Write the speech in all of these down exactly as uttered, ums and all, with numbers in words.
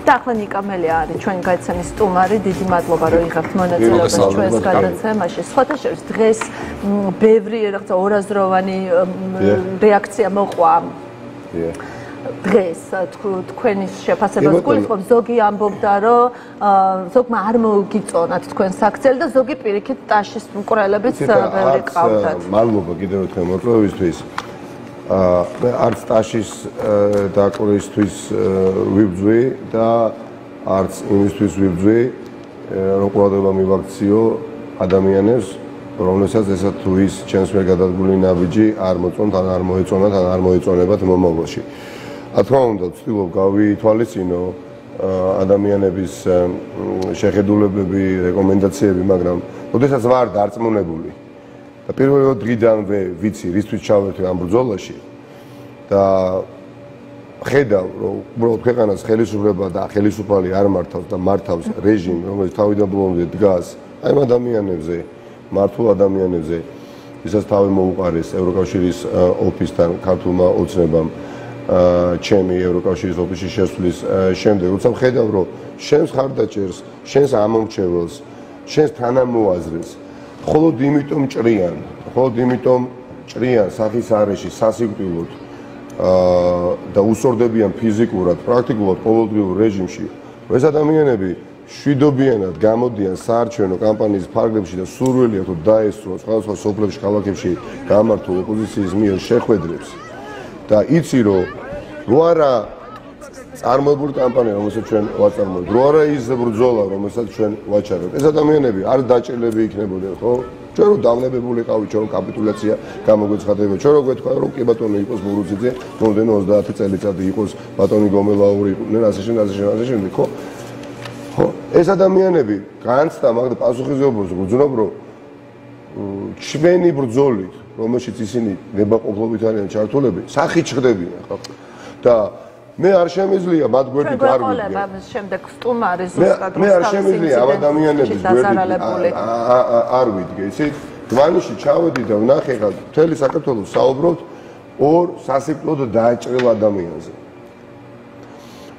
და ახლა ნიკა მელია არის ჩვენი გაიცემის სტუმარი, დიდი მადლობა რომ იღებთ მონაწილეობას ჩვენს გადაცემაში. სხვათა შორის დღეს ბევრი რაღაცა ორაზროვანი რეაქცია მოყვა. დღეს თქვენი შეფასებას გულისხმობ, ზოგი ამბობდა, რომ ზოგმა არ მოგიწონათ თქვენ საქციელი და ზოგი პირიქით ტაშის მკვლელებიც ბევრი ყავდათ. მადლობა კიდევ ერთხელ მორწმობისთვის. მე არც ტაშის დაკვირვისთვის ვიბძვი და არც იმისთვის ვიბძვი, რომ ყურადღება მივაქციო ადამიანებს, რომელსაც ესა თუ ის ჩემს მიერ გადადგმული ნაბიჯი არ მოწონთ, ან არ მოეწონათ, ან არ მოეწონებათ მომავალში. რა თქმა უნდა, ვცდილობ გავითვალისწინო ადამიანების შეხედულებები, რეკომენდაციები, მაგრამ როდესაც ვარ დარწმუნებული და პირველი დღიდანვე ვიცი, რისთვის ჩავერთვი ამ ბრძოლაში და ხედავ, რომ უბრალოდ ქვეყანას ხელისუფლება და ხელისუფალი არ მართავს და მართავს რეჟიმი, რომელიც თავიდან ბოლომდე დგას აი ამ ადამიანებზე, მართულ ადამიანებზე, ვისაც თავი მოუყარეს ევროკავშირის ოფისთან, ქართულმა ოცნებამ ჩემი ევროკავშირის ოფისში შესვლის შემდეგ, როცა ვხედავ, რომ შენს ხარდაჭერს, შენს ამომრჩეველს, შენს თანამოაზრეს მხოლოდ იმიტომ ჭრიან, მხოლოდ იმიტომ ჭრიან სახის არეში, სასიკვდილოდ და უსორდებიან ფიზიკურად, პრაქტიკულად ყოველდღიურ რეჟიმში, რომ ეს ადამიანები შვიდობიანად გამოდიან საარჩევნო კამპანიის ფარგლებში და სურვილი აქვს რომ დაესწროს სხვადასხვა სოფლებში, ქალაქებში გამართულ ოპოზიციის მიერ შეხვედრებს და იცი რომ რო არა წარმოებული კამპანია, რომელსაც ჩვენ ვაწარმოებთ, რო არა ის ბრძოლა, რომელსაც ჩვენ ვაჩარებთ, ეს ადამიანები არ დაჭერლები იქნებოდნენ, ხო? ჩვენ რო დავნებებული ყავით, ჩვენ რო კაპიტულაცია გამოგვეცხადება, ჩვენ რო გვეთქვა რომ კი ბატონო იყოს მურუძიძე, მომდენო ოცდაათი წელიწადი იყოს ბატონი გომელაური, ნუ ასე შემდეგ, ასე შემდეგ, ასე შემდეგ, ხო? ხო, ეს ადამიანები განცდა, მაგრამ პასუხისმგებლობას გძნობ, რომ ჩვენი ბრძოლით, რომელშიც ისინი ნებაყოფლობით არიან ჩართულები, სახით ჩხდებიან, ხო? და მე არ შემიძლია მათ გვერდით არ ვიდგე. შემდეგ სტუმარი ზუსტად მე არ შემიძლია ამ ადამიანების გვერდით არ ვიდგე. იცით, დვანიში ჩავედი და ვნახე ხა მთელი საქართველოს საუბრობთ ორ სასიკვდილოდ დააჭრილ ადამიანზე.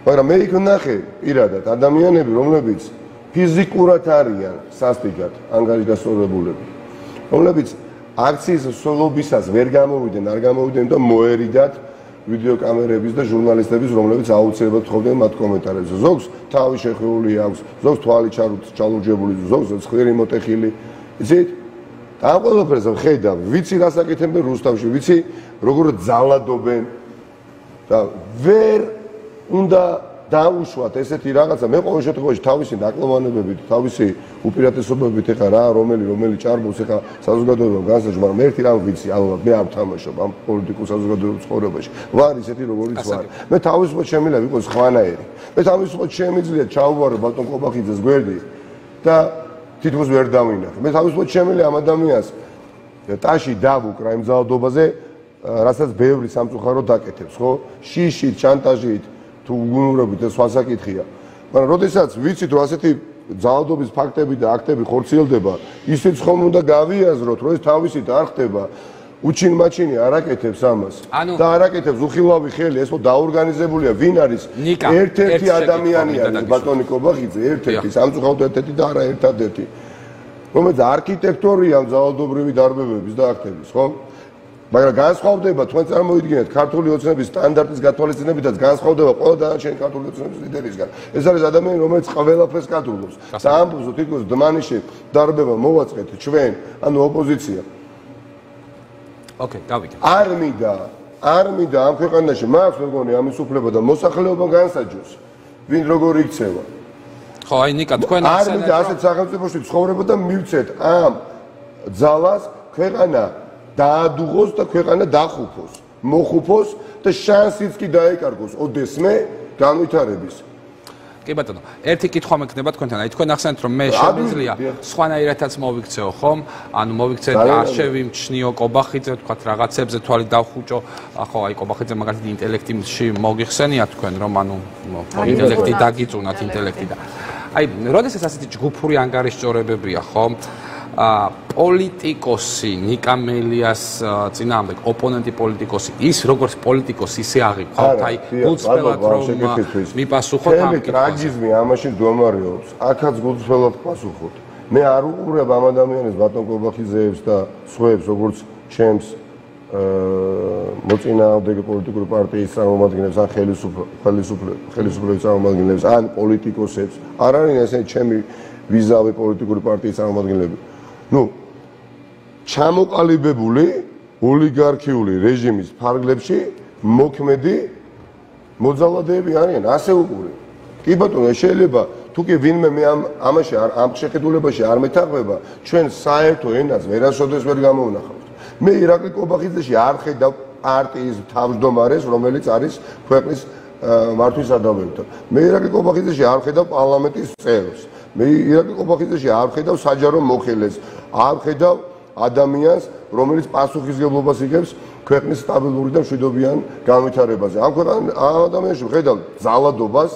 მაგრამ მე იქ ვნახე პირადად ადამიანები, რომლებიც ფიზიკურად არიან სასტიკად ანგარიშგასწორებულები, რომლებიც აქციის სოლობისას ვერ გამოვიდნენ, არ გამოვიდნენ და მოერიდათ ვიდეო კამერების და ჟურნალისტების, რომლებიც აუცილებლად თხოვდნენ მათ კომენტარებს. ზოგს თავი შეხვეული აქვს, ზოგს თვალი ჩალურჯებული, ზოგს ცხვირი მოტეხილი. იცით? და ამ ყველაფერს ვხედავ, ვიცი რას აკეთებენ რუსთავში, ვიცი როგორ ძალადობენ და ვერ უნდა დაუშვათ ესეთი რაღაცა. მე ყოველ შემთხვევაში თავისი ნაკლოვანებებით, თავისი უპირატესობებით ეხა რა, რომელი რომელი ჭარბობს ეხა საზოგადოებამ განსაჯვა, მაგრამ ერთი რამ ვიცი, ალბათ მე არ ვთამაშობ ამ პოლიტიკურ საზოგადოებრივ ცხოვრებაში. ვარ ისეთი როგორიც ვარ. მე თავისუფლად შემიძლია ვიყოს ხვანაერი. მე თავისუფლად შემიძლია ჩავუვარო ბატონ კობახიძეს გვერდი და თითქოს ვერ დავინახე. მე თავისუფლად შემიძლია ამ ადამიანს ტაში დავუკრა იმ ძალადობაზე, რასაც ბევრი სამწუხაროდ დაკეთებს, ხო? შიშით, შანტაჟით თუ უგუნურობით ეს სხვასაკითხია. მაგრამ როდესაც ვიცით რომ ასეთი ძალადობის ფაქტები და აქტები ხორციელდება, ისიც ხომ უნდა გავიაზროთ, რომ ეს თავისით არ ხდება. უჩინ-მაჩინი არ აკეთებს ამას და არ აკეთებს უხილავი ხელი, ეს ხო დაორგანიზებულია, ვინ არის ერთ-ერთი ადამიანი არის ბატონი კობახიძე, ერთ-ერთი, სამწუხაროდ ერთ-ერთი და არა ერთადერთი, რომელიც არქიტექტორია ამ ძალადობრივი დარბებების და აქტების, ხო? მაგრამ განსხვავდება, თქვენ წარმოიდგინეთ ქართული ოცნების სტანდარტის გათვალისწინებითაც განსხვავდება ყველა დანარჩენი ქართული ოცნების ლიდერისგან. ეს არის ადამიანი, რომელიც ყველაფერს კადრულობს. და ამბობს, რომ თითქოს დმანიში დარბება მოვაწყეთ ჩვენ, ანუ ოპოზიცია. ოკეი, გავიგე. არ მინდა, არ მინდა ამ ქვეყანაში მაქვს მეგონი ამის უფლება და მოსახლეობა განსაჯოს, ვინ როგორ იქცევა. ხო, აი ნიკა, თქვენ არ მინდა ასეთ სახელმწიფოში ცხოვრება და მივცეთ ამ ძალას ქვეყანა დაადუღოს და ქვეყანა დახუფოს, მოხუფოს და შანსიც კი დაეკარგოს ოდესმე განვითარების. კი ბატონო, ერთი კითხვა მექნება თქვენთან. აი თქვენ ახსენეთ რომ მე შემიძლია სხვანაირადაც მოვიქცეო, ხომ? ანუ მოვიქცეთ არშევი მჩნიო კობახიძე, თქვათ რაღაცებზე თვალი დავხუჭო. ხო, აი კობახიძე მაგალითად ინტელექტში მოგიხსენიათ თქვენ რომ ანუ ინტელექტი დაგიწუნათ ინტელექტი და აი, როდესაც ასეთი ჯგუფური ანგარიშჯორებებია, ხომ? პოლიტიკოსი ნიკამელიას წინააღმდეგ ოპონენტი პოლიტიკოსი ის როგორც პოლიტიკოსი ისე აღიქვათ აი გულწრფელად რომ მიპასუხოთ ამ ტრაგიზმი ამაში მდგომარეობს აქაც გულწრფელად პასუხობთ მე არ უყურებ ამ ადამიანებს ბატონ კობახიძეებს და სხვაებს როგორც ჩემს მოწინააღმდეგე პოლიტიკური პარტიის წარმომადგენლებს ან ხელისუფლების წარმომადგენლებს ან პოლიტიკოსებს არ არის ესენი ჩემი ვიზავი პოლიტიკური პარტიის წარმომადგენლები ну ჩამოყალიბებული ოლიგარქიული რეჟიმის ფარგლებში მოქმედი მოძალადეები არიან ასე უყურე კი ბატონო შეიძლება თუ კი ვინმე მე ამ ამაში ამ შეხედულებაში არ მეთანხმება ჩვენ საერთო ენას ვერასოდეს ვერ გამოვნახავთ მე ირაკლი კობახიძეში არ ხედავ პარტიის თავმჯდომარეს რომელიც არის ქვეყნის მართვის სადავებთან მე ირაკლი კობახიძეში არ ხედავ პარლამენტის წევრს მე ირაკლი კობახიძეში არ ხედავ საჯარო მოხელეს არ ხედავ ადამიანს რომელიც პასუხისმგებლობას იღებს ქვეყნის სტაბილური და მშვიდობიან განვითარებაზე ამ ამ ადამიანში ხედავ ძალადობას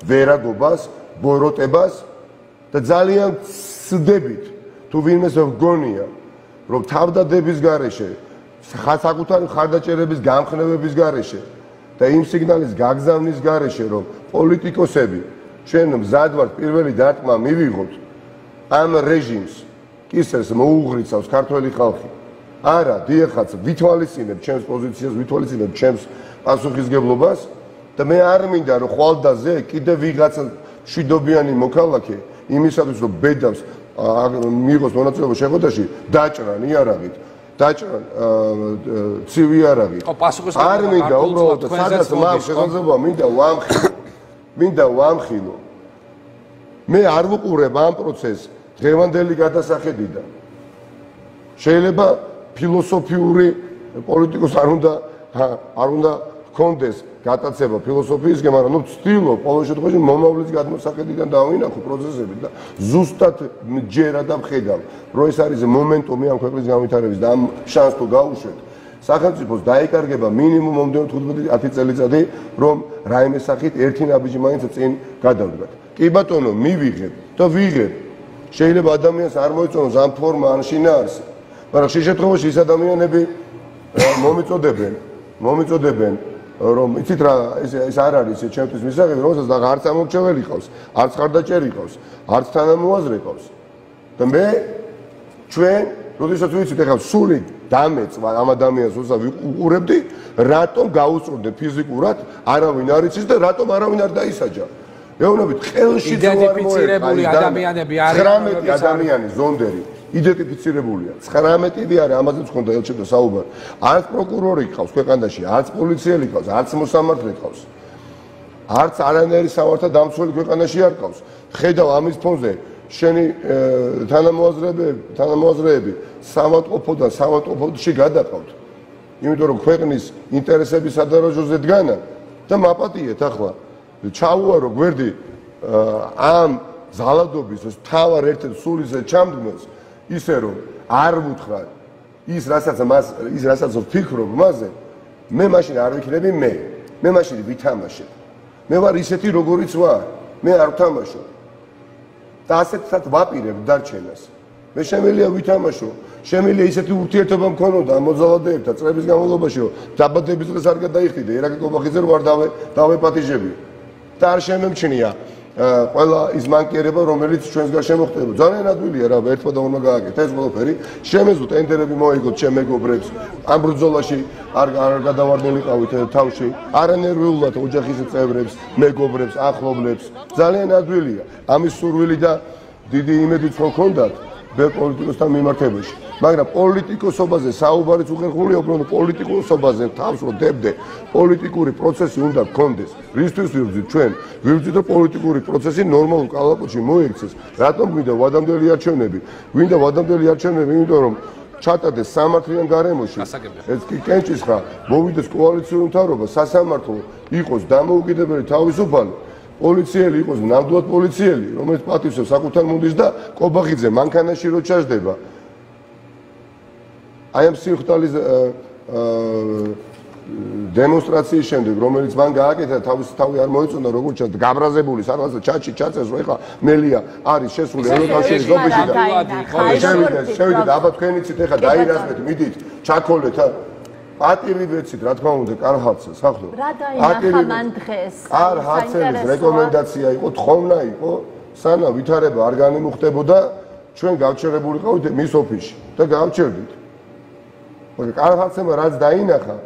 ვერაგობას ბოროტებას და ძალიან ცდებით თუ ვინმეს გონია რომ თავდადების გარეშე საკუთარი ხარდაჭერების გამხნევების გარეშე და იმ სიგნალის გაგზავნის გარეშე რომ პოლიტიკოსები ჩვენ მზად ვართ პირველი დარტყმა მივიღოთ ამ რეჟიმს კისერს მოუღრიცავს ქართველი ხალხი არა დიახაც ვითვალისწინებ ჩემს პოზიციას ვითვალისწინებ ჩემს პასუხისმგებლობას და მე არ მინდა რომ ხვალდაზე კიდე ვიღაცა მშვიდობიანი მოქალაქე იმისათვის რომ ბედავს მიიღოს მონაწილეობა შეხვედრაში დაჭრან იარაღით დაჭრან ცივი იარაღით არ მინდა უბრალოდ სადაც მაქვს შესაძლებლობა მინდა ვამხილო მინდა ვამხილო მე არ ვუყურებ ამ პროცესს დღევანდელი გადასახედიდან შეიძლება ფილოსოფიური პოლიტიკოს არ უნდა არ უნდა ჰქონდეს გატაცება ფილოსოფიისგან, მაგრამ ნუ ვცდილობ ყოველ შემთხვევაში მომავლის გადმოსახედიდან დავინახო პროცესები და ზუსტად ჯერა და ვხედავ, რომ ეს არის მომენტუმი ამ ქვეყნის განვითარების და ამ შანსს თუ გაუშვეთ, სახელმწიფოს დაიკარგება მინიმუმ მომდევნო თხუთმეტი ათი წელიწადი, რომ რაიმე სახით ერთი ნაბიჯი მაინც წინ გადავდგათ. კი ბატონო, მივიღებ და ვიღებ. შეიძლება ადამიანს არ მოიწონოს ამ ფორმა ან შინაარსი, მაგრამ ხშირ შემთხვევაში ის ადამიანები მომიწოდებენ, მომიწოდებენ რომ იცით რა ეს ეს არ არის ჩემთვის მისაღები რომელსაც და არც ამორჩეველი ყავს, არც ხარდაჭერი ყავს, არც თანამოაზრე ყავს. და მე ჩვენ როდესაც ვიცით ეხლა სული დამეწვა ამ ადამიანს როცა ვიყურებდი, რატომ გაუწურდე ფიზიკურად, არავინ არ იცის და რატომ არავინ არ დაისაჯა. ეუბნებით ხელში იდენტიფიცირებული ადამიანები არიან ცხრამეტი ადამიანი ზონდერი იდენტიფიცირებულია. ცხრამეტი არის ამაზეც ხონდა ელჩებდა საუბარი. არც პროკურორი ყავს ქვეყანაში, არც პოლიციელი ყავს, არც მოსამართლე ყავს. არც არანაირი სამართალ დამცველი ქვეყანაში არ ყავს. ხედავ ამის ფონზე შენი თანამოაზრეები, თანამოაზრეები სამავტყოფოდან სამავტყოფოში გადაყავთ. იმიტომ რომ ქვეყნის ინტერესების სადარაჯოზე დგანა და მაპატიეთ ახლა. ჩაუარო გვერდი ამ ზალადობის თავარ ერთ-ერთ სულიზე ჩამდგმელს ისე რომ არ ვუთხრა ის რასაც მას ის რასაც ვფიქრობ მასზე მე მაშინ არ ვიქნები მე მე მაშინ ვითამაშებ მე ვარ ისეთი როგორიც ვარ მე არ ვთამაშობ და ასეთსაც ვაპირებ დარჩენას მე შემიძლია ვითამაშო შემიძლია ისეთი ურთიერთობა მქონოდა ამ მოძალადეებთან წლების განმავლობაში რომ დაბადების დღეს არ გადაიხდიდა ირაკლი კობახიძე რო არ დავე დავეპატიჟებია და არ შემემჩნია ყველა ის მანკიერება რომელიც ჩვენს გარშემო მოხდება ძალიან ადვილია რა ერთმა და ორმა გააკეთა ეს ყველაფერი შემეზო ტენდერები მოიგოთ ჩემ მეგობრებს ამ ბრძოლაში არ არ გადავარდნილიყავით თავში არანერვიულად ოჯახის წევრებს მეგობრებს ახლობლებს ძალიან ადვილია ამის სურვილი და დიდი იმედიც მქონდათ ბერ პოლიტიკოსთან მიმართებაში მაგრამ პოლიტიკოსობაზე საუბარიც უხერხულია უბრალოდ პოლიტიკოსობაზე თავს რო დებდე პოლიტიკური პროცესი უნდა გქონდეს რისთვის ვიბრძვით ჩვენ ვიბრძვით რომ პოლიტიკური პროცესი ნორმალურ კალაპოტში მოექცეს რატომ გვინდა ვადამდელი არჩევნები გვინდა ვადამდელი არჩევნები იმიტომ რომ ჩატარდეს სამართლიან გარემოში ეს კი კენჭისხა მოვიდეს კოალიციური მთავრობა სასამართლო იყოს დამოუკიდებელი თავისუფალი პოლიციელი იყოს ნამდვილად პოლიციელი რომელიც პატივსებს საკუთარ მუნდირს და კობახიძე მანქანაში რო ჩაждდება აი ამ სიხტალის დემონსტრაციის შემდეგ, რომელიც მან გააკეთა, თავის თავი არ მოეწონა, როგორც ჩანს, გაბრაზებული სადღაც ჩაჩი ჩაწეს, რომ ეხლა მელია არის შესული ევროკავშირის ოფისში და შევიდა, შევიდა, აბა თქვენ იცით ეხლა დაირაზმეთ, მიდით, ჩაქოლეთ პატივი ვეცით, რა თქმა უნდა, კარჰაცს, ახლა. რა დაინახა მან დღეს? არ ჰაცელის რეკომენდაცია იყო, თხოვნა იყო, სანამ ვითარება არ განიმუხტებოდა, ჩვენ გავჩერებულიყავით მის ოფისში და გავჩერდით. მაგრამ კარჰაცმა რაც დაინახა,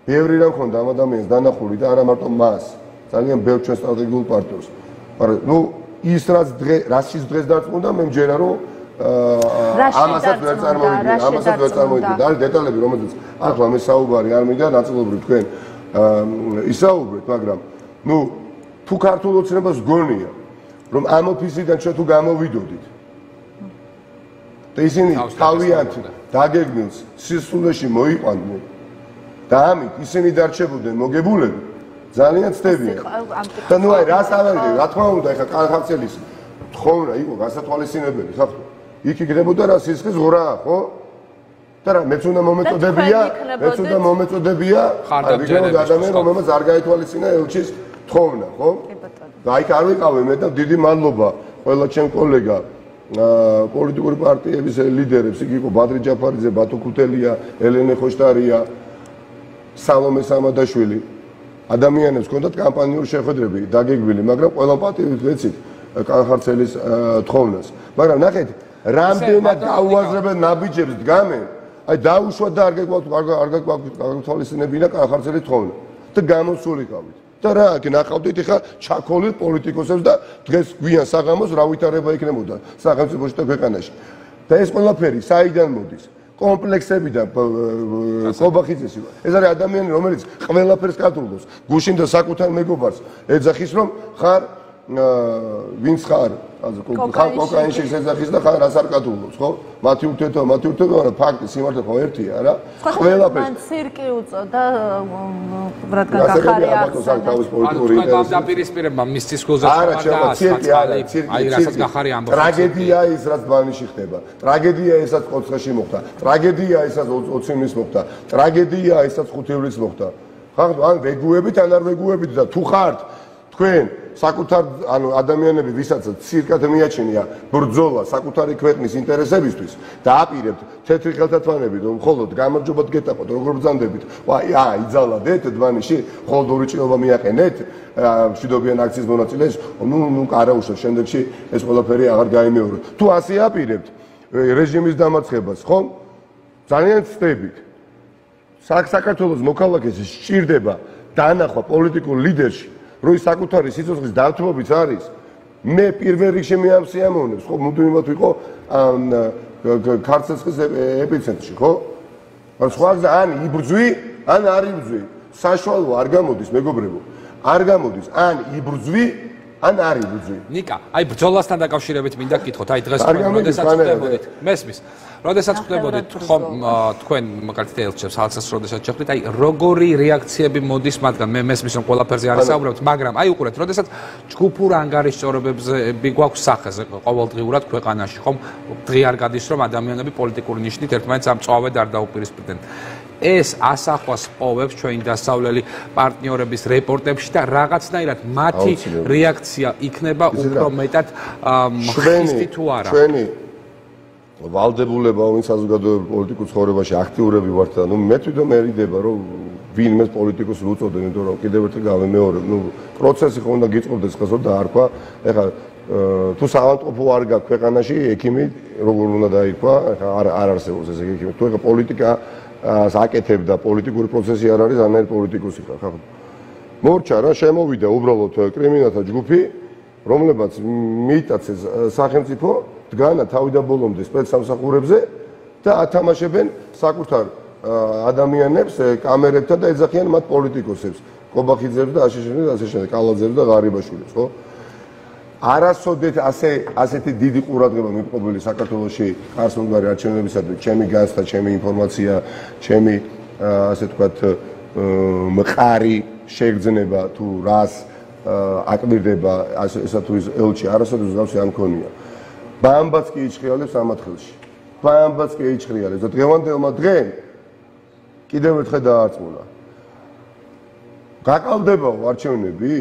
ბევრი რამ ხონდა ამ ადამიანს დანახული და არა მარტო მას, ძალიან ბევრ ჩვენ სტრატეგიულ პარტნიორს. მაგრამ ნუ ის რაც დღე, რასაც დღეს დარწმუნდა, მე მჯერა რომ ამასაც ვერ წარმოვიდგინე, ამასაც ვერ წარმოვიდგინე. და დეტალები, რომელზეც ახლა მე საუბარი არ მინდა, ნაწილობრივ თქვენ ისაუბრეთ, მაგრამ ნუ თუ ქართულ ოცნებას გონია, რომ ამ ოფისიდან ჩვენ თუ გამოვიდოდით და ისინი თავიანთი დაგეგმილს სისულეში მოიყვანდნენ და ამით ისინი დარჩებოდნენ მოგებულები, ძალიან ცდებიან. და ნუ აი რას ავერიდე, რა თქმა უნდა, ეხლა კანხარცელის თხოვნა იყო გასათვალისწინებელი, ხახო. იქ იქნებოდა რა სისხლის ღრაა, ხო? და რა მეც უნდა მომეწოდებია, მეც უნდა მომეწოდებია, აი ვიგებოდა ადამიანი, რომელმაც არ გაითვალისწინა ელჩის თხოვნა, ხო? და აი არ ვიყავე მე და დიდი მადლობა ყველა ჩემ კოლეგა პოლიტიკური პარტიების ლიდერებს, იქ იყო ბადრი ჯაფარიძე, ბათო ქუთელია, ელენე ხოშტარია, სალომე სამადაშვილი. ადამიანებს ჰქონდათ კამპანიური შეხვედრები დაგეგმილი, მაგრამ ყველა პატივით ვეცით კანხარცელის თხოვნას. მაგრამ ნახეთ, რამდენად გაუაზრებელ ნაბიჯებს დგამენ, აი დაუშვათ და არ გაგთვალისწინებინა კანხარცელის თხოვნა და გამოსულიყავით. და რა, აქ ნახავდით ხა ჩაქოლილ პოლიტიკოსებს და დღეს გვიან საღამოს რა ვითარება იქნებოდა სახელმწიფოში და ქვეყანაში. და ეს ყველაფერი საიდან მოდის? კომპლექსებიდან კობახიძეს იყო. ეს არის ადამიანი, რომელიც ყველაფერს კატრულობს, გუშინ და საკუთარ მეგობარს ეძახის, რომ ხარ ვინც ხარ, ხარ კოკაინში ეძახის და ხარ რას არ კატრულობს, ხო? მათი ურთიერთობა, მათი ურთიერთობა, მაგრამ ფაქტი სიმართლე ხო ერთია, რა? ყველაფერს მან ცირკი უწოდა, რადგან გახარია ახსნა. დაპირისპირება მის ცისკულზე და ცირკი არა, ცირკი. აი რასაც გახარია ამბობს. ტრაგედია ის, რაც ბანიში ხდება. ტრაგედია ისაც კოცხეში მოხდა. ტრაგედია ისაც ოციმის მოხდა. ტრაგედია ისაც ხუთივლის მოხდა. ხახ ან ვეგუებით, ან არ ვეგუებით და თუ ხართ თქვენ საკუთარ ანუ ადამიანები, ვისაც ცირკად მიაჩნია ბრძოლა საკუთარი ქვეყნის ინტერესებისთვის და აპირებთ თეთრი ხელთათმანებით, რომ მხოლოდ გამარჯვებად გეტაყოთ, როგორ ბრძანდებით. ვაი, აა, იძალადეთ დმანიში, მხოლოდ ორი ჭრილობა მიაყენეთ, მშვიდობიან აქციის მონაწილეს, ნუ ნუ არაუშავს შემდეგში ეს ყველაფერი აღარ გაიმეოროთ. თუ ასე აპირებთ რეჟიმის დამარცხებას, ხომ? ძალიან ცდებით. საქართველოს მოქალაქეს სჭირდება დანახვა პოლიტიკურ ლიდერში, რომ ის საკუთარი სიცოცხლის დართვობით არის. მე პირველ რიგში მე ამ სიამოვნებს, ხო, მუდმივად ვიყო ქარცეცხლის ეპიცენტრში, ხო? მაგრამ სხვა გზა ან იბრძვი, ან არ იბრძვი. საშუალო არ გამოდის, მეგობრებო. არ გამოდის, ან იბრძვი, ან არ იბრძვი. ნიკა, აი ბრძოლასთან დაკავშირებით მინდა გკითხოთ, აი დღეს როდესაც ხდებოდით, მესმის. როდესაც ხდებოდით, ხომ თქვენ მაგალითად ელჩებს ალცას როდესაც შეხვდით, აი როგორი რეაქციები მოდის მათგან? მე მესმის რომ ყველაფერზე არ საუბრობთ, მაგრამ აი უყურეთ, როდესაც ჯგუფურ ანგარიშწორებებზე გვაქვს სახეზე ყოველდღიურად ქვეყანაში, ხომ დღე არ გადის რომ ადამიანები პოლიტიკური ნიშნით ერთმანეთს ამწვავედ არ დაუპირისპირდნენ. ეს ასახვას პოვებს ჩვენი დასავლელი პარტნიორების რეპორტებში და რაღაცნაირად მათი რეაქცია იქნება უფრო მეტად ხისტი თუ არა. ჩვენი ვალდებულება, ვინც საზოგადოებრივ პოლიტიკურ ცხოვრებაში აქტიურები ვართ და ნუ მე თვითონ მერიდება რომ ვინმე პოლიტიკოსს უწოდე, იმიტომ რომ კიდევ ერთხელ გავემეორებ, ნუ პროცესი ხო უნდა გიწყობდეს ხაზ და არქვა. ეხლა თუ საავადმყოფო არ გაქვს ქვეყანაში, ექიმი როგორ უნდა დაირქვა, ეხლა არ არ არსებობს ეს ექიმი. თუ ეხლა პოლიტიკა აკეთებ და პოლიტიკური პროცესი არ არის, ანაირ პოლიტიკოსი ხარ, ხო? მორჩა რა, შემოვიდა უბრალოდ კრიმინალთა ჯგუფი, რომლებაც მიიტაცეს სახელმწიფო დგანა თავიდან ბოლომდე სპეცსამსახურებზე და ათამაშებენ საკუთარ ადამიანებს კამერებთან და ეძახიან მათ პოლიტიკოსებს, კობახიძეებს და აშიშინებს და ასე შემდეგ, კალაძეებს და ღარიბაშვილებს, ხო? არასოდეს ასე ასეთი დიდი ყურადღება მიყობილი საქართველოში არსონგარი არჩევნებისადმი, ჩემი განცდა, ჩემი ინფორმაცია, ჩემი ასე ვთქვათ მყარი შეგრძნება თუ რას აკმირდება ესა თუ ის ელჩი არასოდეს გავსი არ მქონია. ბამბაც კი იჭრიალებს ამათხელში. ბამბაც კი იჭრიალებს და დღევანდელმა დღემ კიდევ ერთხელ დაარწმუნა, გაყალდებაო არჩევნები?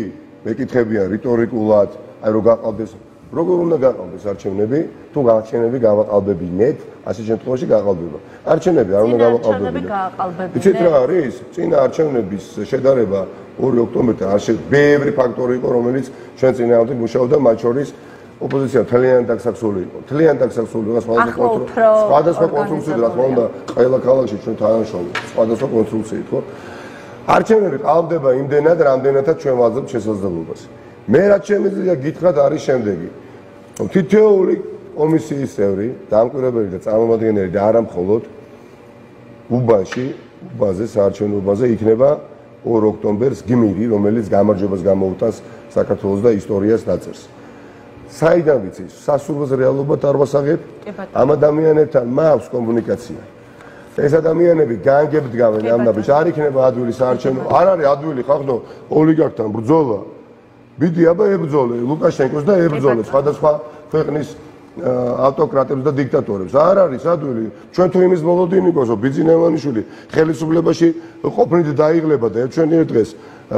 მეკითხებიან რიტორიკულად, აი რომ გაყალდეს, როგორ უნდა გაყალდეს არჩევნები? თუ არჩევნები გავაყალბებინეთ, ასე შემთხვევაში გაყალბება. არჩევნები არ უნდა გავაყალბებინეთ. იცით რა არის? წინა არჩევნების შედარება ორი ოქტომბერთან არ შე ბევრი ფაქტორი იყო, რომელიც ჩვენ წინააღმდეგ მუშაობდა, მათ შორის ოპოზიცია მთლიანად დაქსაქსული იყო. მთლიანად დაქსაქსული იყო სხვადასხვა კონსტრუქციით, რა თქმა უნდა, ყველა ქალაქში ჩვენ თანამშრომლობთ სხვადასხვა კონსტრუქციით, ხო? არჩევნები ყალბდება იმდენად, რამდენადაც ჩვენ ვაძლევთ შესაძლებლობას. მე რაც შემიძლია გითხრათ არის შემდეგი. თითოეული კომისიის წევრი, დამკვირვებელი და წარმომადგენელი და არა მხოლოდ უბანში, უბანზე, საარჩევნო უბანზე იქნება ორი ოქტომბერს გმირი, რომელიც გამარჯვებას გამოუტანს საქართველოს და ისტორიას დაწერს. საიდან ვიცი, სასურველს რეალობად არ ვასაღებ, ამ ადამიანებთან მაქვს კომუნიკაცია. ეს ადამიანები განგებდგავენ ამ ნაბიჯს, არ იქნება ადვილი საარჩევნო, არ არის ადვილი ხახნო ოლიგარქთან ბრძოლა. ბიდი აბა ებრძოლე ლუკაშენკოს და ებრძოლე სხვადასხვა ქვეყნის ავტოკრატებს და დიქტატორებს. არ არის ადვილი. ჩვენ თუ იმის მოლოდინიკოს, რომ ბიძინევანიშვილი ხელისუფლებაში ყოფნით დაიღლება და ერთჩვენიერ დღეს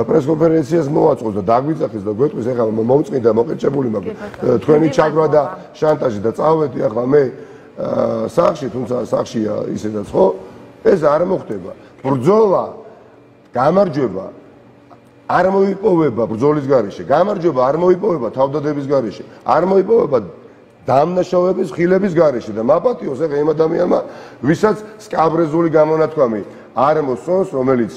პრესკონფერენციას მოაწყოს და დაგვიძახის და გვეტყვის, ეხლა მომწყინდა მოყერჭებული მაქვს თქვენი ჩაგვრა და შანტაჟი და წავედი ახლა მე სახში, თუმცა სახშია ისედაც ხო, ეს არ მოხდება. ბრძოლა, გამარჯვება არ მოიპოვება ბრძოლის გარეშე. გამარჯვება არ მოიპოვება თავდადების გარეშე. არ მოიპოვება დამნაშავების ხილების გარეშე და მაპატიოს ეხლა იმ ადამიანმა, ვისაც სკაბრეზული გამონათქვამი არ მოსწონს, რომელიც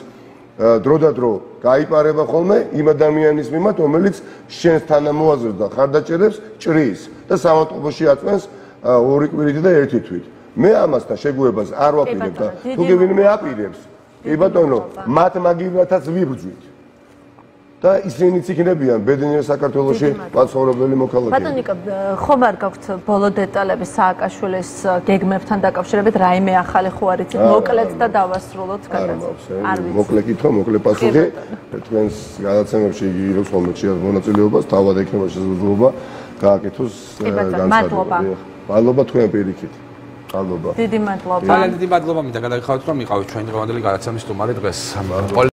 დრო და დრო გაიპარება ხოლმე იმ ადამიანის მიმართ, რომელიც შენს თანამოაზრეს და ხარდაჭერებს ჭრის და სამავტყოფოში აწვენს ორი კვირით და ერთი თვით. მე ამასთან შეგუებას არ ვაპირებ და თუ ვინმე აპირებს, კი ბატონო, მათ მაგივრათაც ვიბრძვით. და ისინიც იქნებიან ბედნიერ საქართველოში პაცხოვრებელი მოქალაქეები. ბატონო ნიკო, ხომ არ გაქვთ ბოლო დეტალები სააკაშვილის გეგმებთან დაკავშირებით, რაიმე ახალი ხო არ იცით, მოკლედ და დავასრულოთ გადაცემა. არ ვიცი. მოკლე კითხვა, მოკლე პასუხი. თქვენს გადაცემებში იგი იღებს ხოლმე ხშირად მონაწილეობას, თავად ექნება შესაძლებლობა გააკეთოს განცხადება. მადლობა თქვენ პირიქით. მადლობა. დიდი მადლობა. ძალიან დიდი მადლობა მინდა გადაგიხადოთ, რომ იყავით ჩვენი დღევანდელი გადაცემის სტუმარი დღეს.